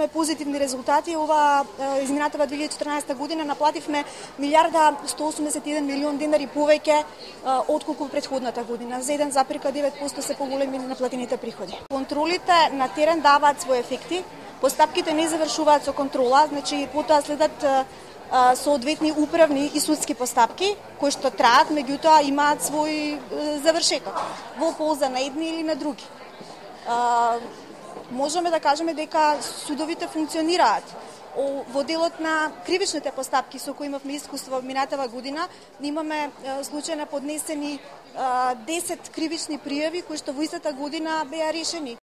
имаме позитивни резултати. Ова изминатава 2014 година наплативме 1.181 милион денари повеќе отколку претходната година. За 1,9% се поголеми наплатените приходи. Контролите на терен даваат своји ефекти. Постапките не завршуваат со контрола, значи потоа следат соодветни управни и судски постапки кои што траат, меѓутоа имаат свој завршеток во полза на едни или на други. Можеме да кажеме дека судовите функционираат. Во делот на кривичните постапки со кои имавме искуство минатава година, имаме случај на поднесени 10 кривични пријави кои што во истата година беа решени.